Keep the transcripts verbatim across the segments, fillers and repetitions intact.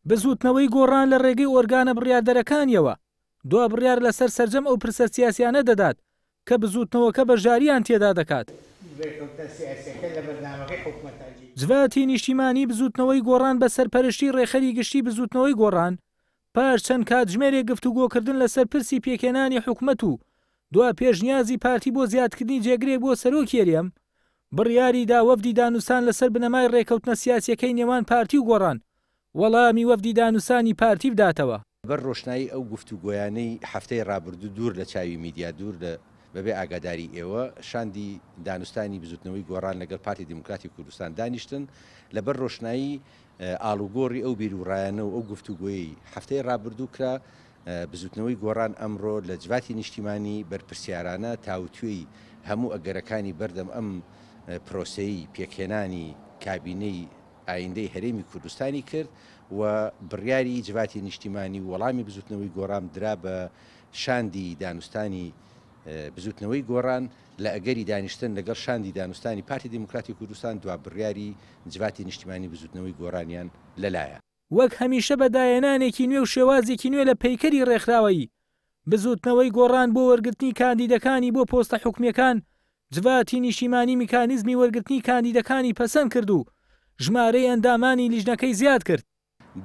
بزووتنەوەی گۆڕان لە ڕێگەی ئۆرگانە بڕیاردەرەکانیەوە دوا بڕیار لەسەر سەرجەم ئەو پرسە سیاسیانە دەدات کە بزووتنەوەکە بەشداریان تێدا دەکات. جڤاتی نیشتیمانی بزووتنەوەی گۆڕان بە سەرپەرشتی ڕێکخەری گشتی بزووتنەوەی گۆڕان پاش چەند کاتژمێرێک گفتوگۆکردن لەسەر پرسی پێکهێنانی حکومەت و دوا پێشنیازی پارتی بۆ زیادکردنی جێگرێک بۆ سەرۆکی هەرێم بڕیاری دا وەفدی دانوستان لەسەر بنەمای ڕێکەوتنە سیاسیەکەی نێوان پارتی و گۆڕان وەڵامی وەفدی دانوستانی پارتی بداتەوە. بەر ڕۆشنایی ئەو گفتوگۆیانەی هەفتەی ڕابردوو دوور لە چاوی میدیا، دوور لە بەبێ ئاگاداری ئێوە، شاندی دانوستانی بزوتنەوەی گۆڕان لەگەڵ پارتی دیموکراتی کوردستان دانیشتن، لەبەر ڕۆشنایی ئاڵوگۆڕی ئەو بیروڕایانە و ئەو گفتوگۆیەی هەفتەی ڕابردوو کرا، بزوتنەوەی گۆڕان ئەمڕۆ لە جڤاتی نیشتیمانی بەرپرسیارانە تاوتوێی هەموو ئەگەرەکانی بەردەم ئەم پرۆسەی پێکهێنانی کابینەی ئایندەی هەرێمی کوردستانی کرد و بڕیاری جڤاتی نیشتیمانی و وەڵامی بزوتنەوەی گۆڕان درا بە شاندی دانوستانی بزوتنەوەی گۆڕان لە ئەگەری دانیشتن لەگەڵ شاندی دانوستانی پارتی دیموکراتی کوردستان دوا بڕیاری جڤاتی نیشتیمانی بزوتنەوەی گۆڕانیان لەلایە. وەک هەمیشە بە داهێنانێکی نوێ و شێوازێکی نوێ لە پەیکەری ڕێکخراوەیی بزوتنەوەی گۆڕان بۆ وەرگرتنی کاندیدەکانی بۆ پۆستە حکومیەکان جڤاتی نیشتیمانی میکانیزمی وەرگرتنی کاندیدەکانی پەسەند کرد و ژمارەی ئەندامانی لیژنەکەی زیاد کرد.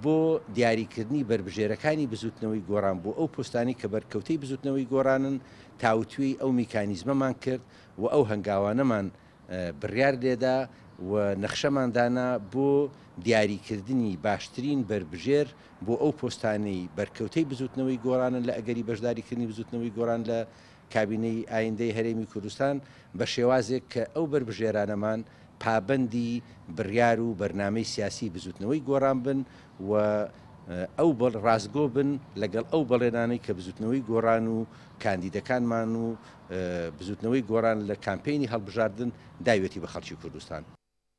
بۆ دیاریکردنی بەربژێرەکانی بزوتنەوەی گۆڕان بۆ ئەو پۆستانی کە بەرکەوتەی بزوتنەوەی گۆڕانن تاوتوێی ئەو میکانیزمەمان کرد و ئەو هەنگاوانەمان بڕیار لێدا و نەخشەمان دانا بۆ دیاریکردنی باشترین بەربژێر بۆ ئەو پۆستانەی بەرکەوتەی بزوتنەوەی گۆڕانن لە ئەگەری بەشداریکردنی بزوتنەوەی گۆڕان لە کابینەی ئایندەی هەرێمی کوردستان بە شێوازێک کە ئەو بەربژێرانەمان پابەندی بڕیار و بەرنامەی سیاسی بزوتنەوەی گۆڕان بن و ئەو ڕاستگۆ بن لەگەڵ ئەو بەڵێنانەی کە بزوتنەوەی گۆڕان و کاندیدەکانمان و بزوتنەوەی گۆڕان لە کامپەینی هەڵبژاردن داوێتی بە خەڵکی کوردستان.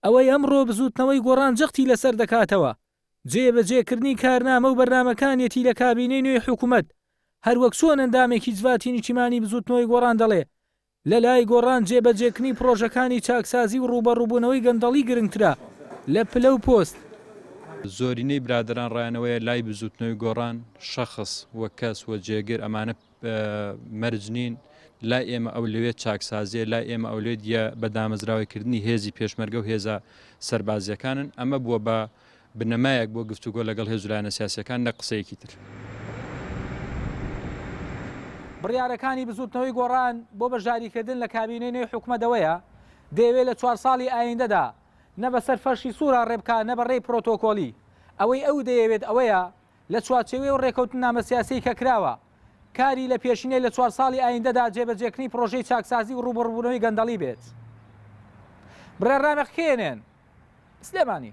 ئەوەی ئەمڕۆ بزوتنەوەی گۆڕان جەختی لەسەر دەکاتەوە جێبەجێکردنی کارنامە و بەرنامەکانیەتی لە کابینەی نوێی حکوومەت، هەروەک چۆن ئەندامێکی جڤاتی نیشتیمانی بزوتنەوەی گۆڕان دەڵێ لە لای گۆڕان جێبەجێکردنی پرۆژەکانی چاکسازی و ڕووبەڕووبوونەوەی گەندەڵی گرنگترە لە پلە و پۆست. زۆرینەی برادەران ڕایانەوەیە لای بزوتنەوەی گۆڕان شەخص و کەس و جێگر ئەمانە مەرج نین، لای ئێمە ئەولەویەت چاکسازیە، لای ئێمە ئەولەویەت بە دامەزراوەیکردنی هێزی پێشمەرگە و هێزە سەربازیەکانن. ئەمە بووە بە بنەمایەک بۆ گفتوگۆ لەگەڵ هێز و لایەنە سیاسیەکان نە قسەیەکی تر. بڕیارەکانی بزوتنەوەی گۆڕان بۆ بەشداریکردن لە کابینەی نوێی حکومەتەوەیە دەیەوێت لە چوار ساڵی ئایندەدا نە بەسەر فەرشی سوورا ڕێبکا نە بە ڕێی پرۆتۆکۆلی. ئەوەی ئەو دەیەوێت ئەوەیە لە چوارچێوەی و ڕێکەوتنامە سیاسی کە کراوە کاری لە پێشینەی لە چوار ساڵی ئایندەدا جێبەجێکردنی پرۆژەی چاکسازی و ڕووبەڕووبوونەوەی گەندەڵی بێت. بڕیار ڕامێق کێنێن سلێمانی.